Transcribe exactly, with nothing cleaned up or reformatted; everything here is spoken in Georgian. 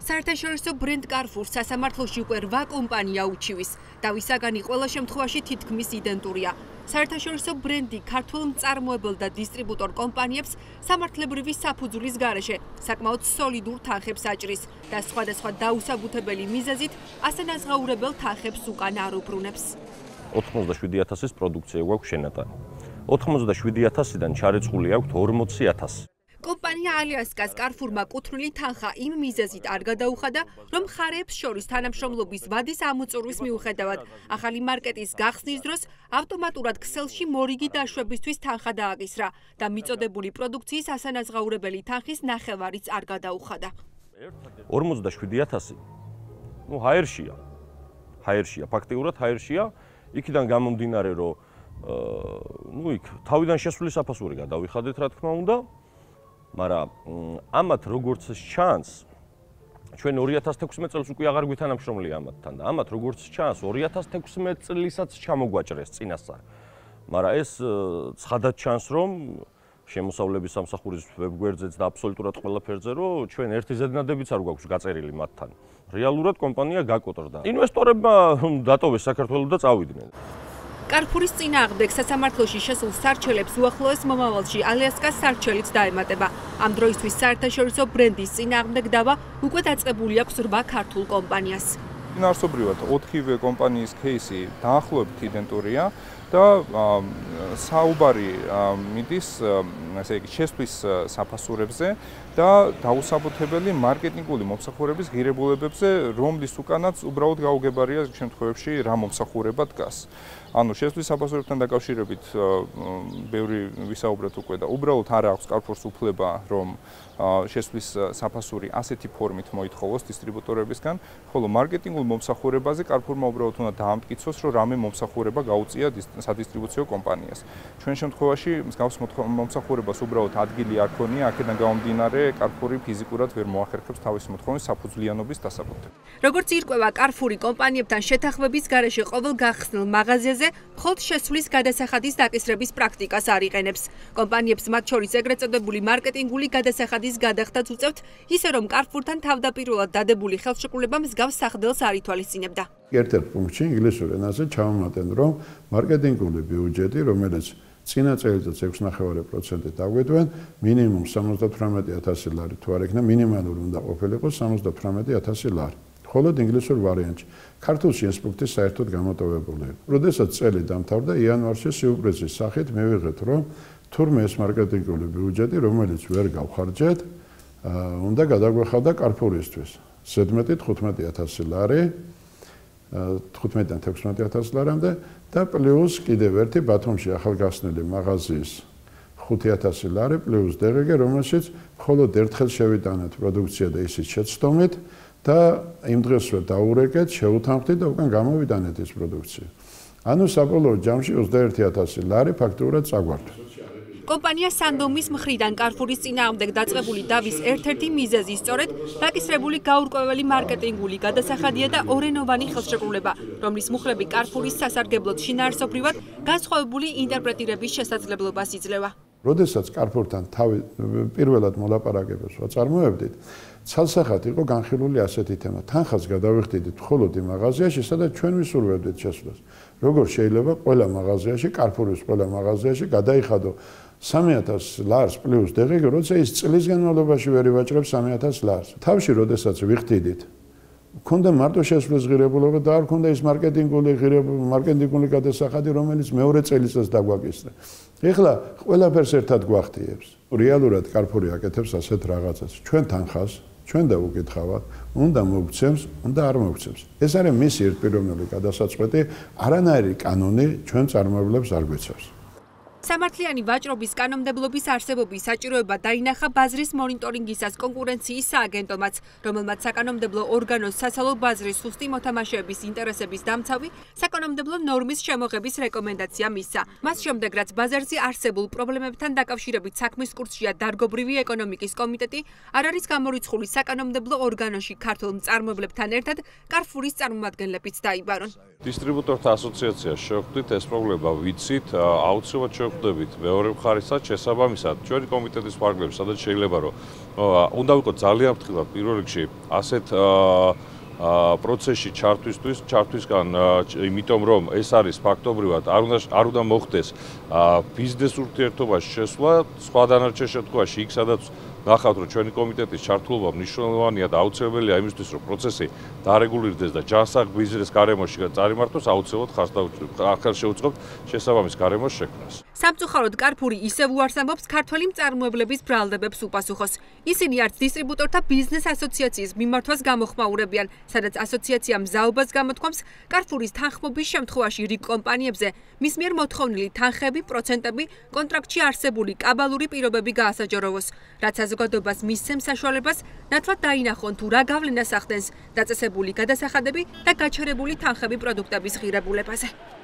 საერთაშორისო ბრენდ Carrefour სასამართლოში უკვე რვა კომპანია უჩივის. დავისაგანი ყველა შემთხვევაში თითქმის იდენტურია. საერთაშორისო ბრენდი ქართულ მწარმოებელ და დისტრიბუტორ კომპანიებს სამართლებრივი საფუძვლის გარეშე საკმაოდ სოლიდურ თანხებს აჭრის და სხვადასხვა დაუსაბუთებელი მიზეზით ასანაზღაურებელ თანხებს უკან არ უბრუნებს. ოთხმოცდაშვიდი ათასის პროდუქცია გვაქვს შენატანი. ოთხმოცდაშვიდი ათასიდან ჩარეცხული აქვთ ორმოცი ათასი. კომპანია ალიასკას Carrefour-მა კუთვნილი თანხა იმ მიზეზით არ გადაუხადა, რომ მხარეებს შორის თანამშრომლობის ვადის ამოწურვის მიუხედავად ახალი მარკეტის გახსნის დროს ავტომატურად ქსელში მორიგი დაშვებისთვის თანხა დააკისრა და მიწოდებული პროდუქციის ასანაზღაურებელი თანხის ნახევარიც არ გადაუხადა. ორმოცდაშვიდი ათასი ნუ ჰაერშია. ჰაერშია, ფაქტიურად ჰაერშია, იქიდან გამომდინარე, რომ ნუ იქ თავიდან შესული საფასური გადავიხადეთ, რა თქმა უნდა. მაგრამ ამათ როგორც ჩანს ჩვენ ორი ათას თექვსმეტ წელს უკვე აღარ გვითანამშრომლია ამათთან და ამათ როგორც ჩანს ორი ათას თექვსმეტ წლისაც ჩამოგვაჭრეს წინასწარ. მაგრამ ეს ცხადად ჩანს რომ შემოსავლების სამსახურის ვებგვერდზეც და აბსოლუტურად ყველა ფერზე რომ ჩვენ ერთი ზედნადებიც არ გვაქვს გაწერილი მათთან. რეალურად კომპანია გაკოტრდა. ინვესტორებმა დატოვეს საქართველოს და წავიდნენ. Carrefour-ის წინააღმდეგ სასამართლოში შესულ სარჩელებს უახლოეს მომავალში ალიასკას სარჩელიც დაემატება. ამ დროისთვის საერთაშორისო ბრენდის წინააღმდეგ დავა უკვე დაწყებული აქვს რვა ქართულ კომპანიას. Ფინანსობრივად ოთხივე კომპანიის кейსი დაახლოებით იდენტურია და საუბარი მიდის ესე იგი შესთვის საფასურებზე და დაუსაბუთებელი მარკეტინგული მომსახურების ღირებულებებზე, რომლის უკანაც უბრალოდ გაუგებარია შემთხვევებში რა მომსახურება დგას. ანუ შესთვის საფასურებთან დაკავშირებით ბევრი ვისაუბრეთ უკვე და უბრალოდ არ აქვს Carrefour-ს უფლება რომ შესთვის საფასური ასეთი ფორმით მოითხოვოს დისტრიბუტორებისგან, ხოლო მარკეტინგულ მომსახურებაზე Carrefour-მა უბრალოდ უნდა დაამტკიცოს, რომ რამე მომსახურება გაუწია სადისტრიბუციო კომპანიას. ჩვენ შემთხვევაში მსგავს მომსახურებას უბრალოდ ადგილი არ ქონია, აქედან გამომდინარე Carrefour-ი ფიზიკურად ვერ მოახერხებს თავის მოთხოვნის საფუძვლიანობის დასაბუთებას. როგორც ირკვევა Carrefour-ი კომპანიებთან შეთანხმების გარეშე ყოველ გახსნილ მაღაზიაზე მხოლოდ შესვლის გადასახადის დაკისრების პრაქტიკას არ იყენებს. კომპანიებს მათ შორის ეგრეთ წოდებული მარკეტინგული გადასახადის გადახდაც უწევთ, ისე რომ Carrefour-თან თავდაპირველად დადებული ხელშეკრულება მსგავს სახდელს არ ითვალისწინებდა. ერთ-ერთ პუნქტში ინგლისურ ენაზე ჩავამატენ, რომ მარკეტინგული ბიუჯეტი, რომელიც წინა წელიწადს ექვსი ნახევარი პროცენტით დაგვედგენ, მინიმუმ სამოცდათვრამეტი ათასი ლარი თუ არ იქნება, მინიმალური უნდა ყოფილიყო სამოცდათვრამეტი ათასი ლარი. ხოლო ინგლისურ ვარიანტში ქართულში ეს პუნქტი საერთოდ გამოტოვებული იყო. როდესაც წელი დამთავრდა იანვარში სიურპრიზის სახით მივიღეთ, რომ თურმე ეს მარკეტინგული ბიუჯეტი, რომელიც ვერ გავხარჯეთ, უნდა გადაგვეხადა Carrefour-ისთვის. ზედმეტი თხუთმეტი ათასი ლარი, თხუთმეტიდან თექვსმეტი ათასი ლარამდე და პლუს კიდევ ერთი ბათუმში ახალგასნილი მაღაზიის ხუთი ათასი ლარი პლუს დღგ, რომელშიც მხოლოდ ერთხელ შევიტანეთ პროდუქცია და ისიც შეცდომით და იმ დღესვე დაურეკეთ, შეუთანხმდით და უკან გამოვიტანეთ ეს პროდუქცია. ანუ საბოლოო ჯამში ოცდაერთი ათასი ლარი ფაქტურად წაგვარდა. კომპანია Sandom-ის მხრიდან Carrefour-ის წინააღმდეგ დაწყებული დავის ერთ-ერთი მიზეზი სწორედ დაკისრებული გაურკვეველი მარკეტინგული გადასახადია და ორენოვანი ხელშეკრულება, რომლის მუხლები Carrefour-ის სასარგებლოდ შინაარსობრივად განსხვავებული ინტერპრეტირების შესაძლებლობას იძლევა. როდესაც Carrefour-თან თავი პირველად მოლაპარაკებებს ვაწარმოებდით, ცალსახად იყო განხილული ასეთი თემა. თანხას გადავიხდიდით მხოლოდ იმ მაღაზიაში, სადაც ჩვენ ვისურვებდით შესვლას. როგორ შეიძლება ყველა მაღაზიაში, Carrefour-ის ყველა მაღაზიაში გადაიხადო სამი ათასი ლარს პლუს დღგ, როცა ის წლის განმავლობაში ვერ ივაჭრებს სამი ათასი ლარს. თავში როდესაც ვიხდიდით, მქონდა მარტო შესვლის ღირებულება და არ მქონდა ის მარკეტინგული ღირებულება, მარკეტინგული გადასახადი, რომელიც მეორე წელიწადს დაგვაკისრა. ეხლა ყველაფერს ერთად გვახტიებს. რეალურად Carrefour-ი აკეთებს ასეთ რაღაცას. ჩვენ თანხას, ჩვენ დავუკითხავთ, უნდა მოგცემს, უნდა არ მოგცემს. ეს არის მისი ერთპიროვნული გადასაწყვეტი, არანაირი კანონი ჩვენ წარმოებლებს არ გვეცავს. სამართლიანი ვაჭრობის კანონმდებლობის არსებობის საჭიროება დაინახა ბაზრის მონიტორინგისას კონკურენციის სააგენტომაც, რომელმაც საკანონმდებლო ორგანოს სასალო ბაზრის სუსტი მოთამაშეების ინტერესების დამცავი საკანონმდებლო ნორმის შემოღების რეკომენდაცია მისცა. მას შემდეგ, რაც ბაზარზე არსებულ პრობლემებთან დაკავშირებით საქმის კურსშია დარგობრივი ეკონომიკის კომიტეტი, არ არის გამორიცხული საკანონმდებლო ორგანოში ქართულ მწარმოებლებთან ერთად Carrefour-ის წარმომადგენლებიც დაიბარონ. დისტრიბუტორთა ასოციაციას შევხვდით, ეს პრობლემა ვიცით, აუცილებლად შევხვდებით მეორე მხარესაც, შესაბამისად, ჩვენი კომიტეტის ფარგლებში, სადაც შეიძლება რომ უნდა ვიყოთ ძალიან ფრთხილად პირველ რიგში ასეთ პროცესში ჩართვისთვის, ჩართვისგან, იმიტომ რომ ეს არის ფაქტობრივად არ უნდა არ უნდა მოხდეს ბიზნეს ურთიერთობაში შესვლა, სხვა დანარჩენ შემთხვევაში იქ სადაც ნახავთ რომ ჩვენი კომიტეტის ჩართულობა მნიშვნელოვანია და აუცილებელია იმისთვის რომ პროცესი დარეგულირდეს და ჯანსაღ ბიზნეს გარემოში წარიმართოს, აუცილებლად ხარს შეუწყობთ შესაბამის გარემოს შექმნას. სამწუხაროდ Carrefour ისევ უარს ამბობს ქართველი მწარმოებლების ბრალდებებს უპასუხოს. ისინი არც დისტრიბუტორთა ბიზნეს ასოციაციის მიმართვას გამოხმაურებიან, სადაც ასოციაცია მზაობას გამოთქვამს Carrefour-ის თანხმობის შემთხვევაში რიგ კომპანიებზე მის მიერ მოთხოვნილი თანხები, პროცენტები, კონტრაქტში არსებული კაბალური პირობები გაასაჯაროვოს, რაც საზოგადოებას მისცემს საშუალებას ნათლად დაინახონ თუ რა გავლენას ახდენს დაწესებული გადასახადები და გაჩერებული თანხები პროდუქტების ღირებულებაზე.